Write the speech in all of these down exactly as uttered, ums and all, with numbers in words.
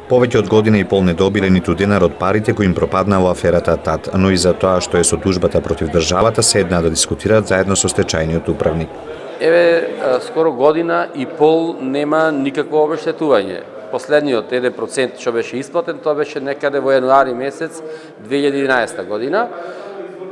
Повеќе од година и пол не добиле ниту денар од парите кои им пропадна во аферата ТАТ, но и за тоа што е со тужбата против државата седнаа да дискутираат заедно со стечајниот управник. Еве, скоро година и пол нема никакво обештетување. Последниот еден процент што беше исплатен, тоа беше некаде во јануари месец две илјади и единаесета година.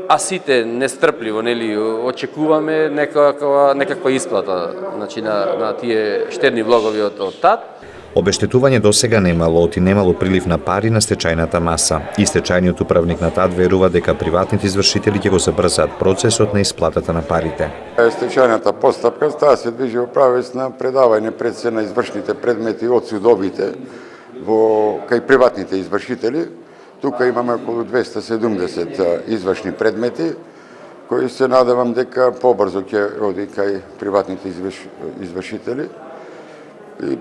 А сите нестрпливо, нели, очекуваме некаква некаква исплата, значи на на тие штедни влогови од, од ТАТ. Обештетување досега немало, оти немало прилив на пари на стечајната маса. И стечајниот управник на ТАТ верува дека приватните извршители ќе го забрзаат процесот на исплатата на парите. Стечајната постапка таа се движи во правец на предавање пред се на извршните предмети од судовите во кај приватните извршители. Тука имаме околу двеста седумдесет извршни предмети, кои се надевам дека побрзо ќе оди кај приватните извршители и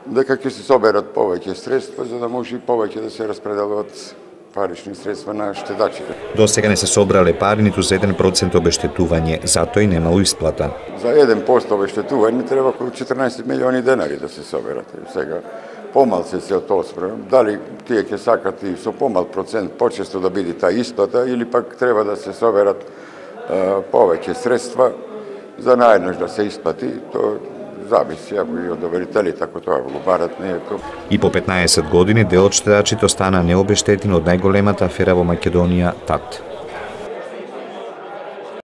дека ќе се соберат повеќе средства за да може и повеќе да се распределуваат парични средства на штедачите. До сега не се собрале пари ниту за еден процент обештетување, затоа и немало исплата. За еден процент обештетување треба околу четрнаесет милиони денари да се соберат. Сега помал се се од тоа спрем. Дали тие ќе сакат и со помал процент почесто да биде таа исплата или пак треба да се соберат а, повеќе средства за наеднаш да се исплати, тоа зависи ако и од доверителите, ако тоа го барат не е тоа. И по петнаесет години дел од штедачите остана необештетен од најголемата афера во Македонија ТАТ.